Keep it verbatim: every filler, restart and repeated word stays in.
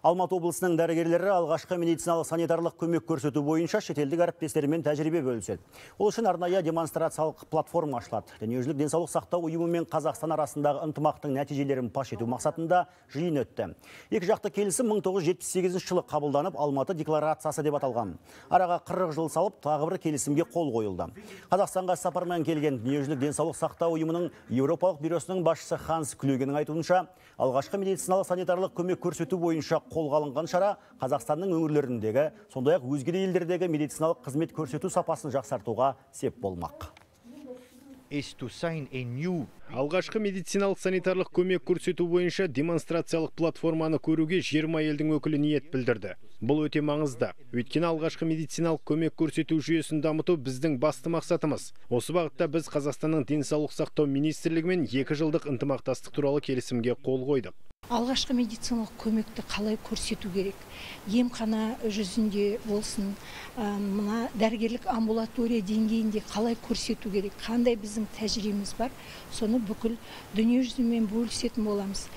Алматы облысының дәрігерлері алғашқы медициналық санитарлық көмек көрсету бойынша шетелдік әріптестерімен тәжірибе бөліседі. Ол үшін арнайы демонстрациялық платформа ашылады. Дүниежүзілік денсаулық сақтау ұйымы мен Қазақстан арасындағы ынтымақтың нәтижелерін паш ету мақсатында жиын өтті. Екі жақты келісім мың тоғыз жүз жетпіс сегізінші жылы қабылданып, Алматы декларациясы деп аталған. Араға қырық жыл салып, тағы бір келісімге қол қойылды. Қазақстанға сапармен келген Дүниежүзілік денсаулық сақтау ұйымының Еуропалық бюросының басшысы Ханс Клюгенің айтуынша, алғашқы медициналық санитарлық көмек көрсету бойынша қолға алынған шара Қазақстанның өңірлеріндегі, сондай-ақ өзге де елдердегі медициналық қызмет көрсету сапасын жақсартуға сеп болмақ. Алғашқы медициналық санитарлық көмек көрсету бойынша демонстрациялық платформаны көруге жиырма елдің өкілі ниет білдірді. Бұл өте маңызды. Өйткені алғашқы медициналық көмек көрсету жүйесін дамыту біздің басты мақсатымыз. Осы бағытта біз Қазақстанның денсаулық сақтау министрлігімен екі жылдық ынтымақтастық туралы келісімге қол қойдық. Алғашқы медициналық көмекті қалай көрсету керек? Емхана жүзінде болсын, мына дәрігерлік амбулатория деңгейінде қалай көрсету керек? Қандай біздің тәжірибеміз бар? Соны бүкіл дүние жүзімен бөлісетін боламыз.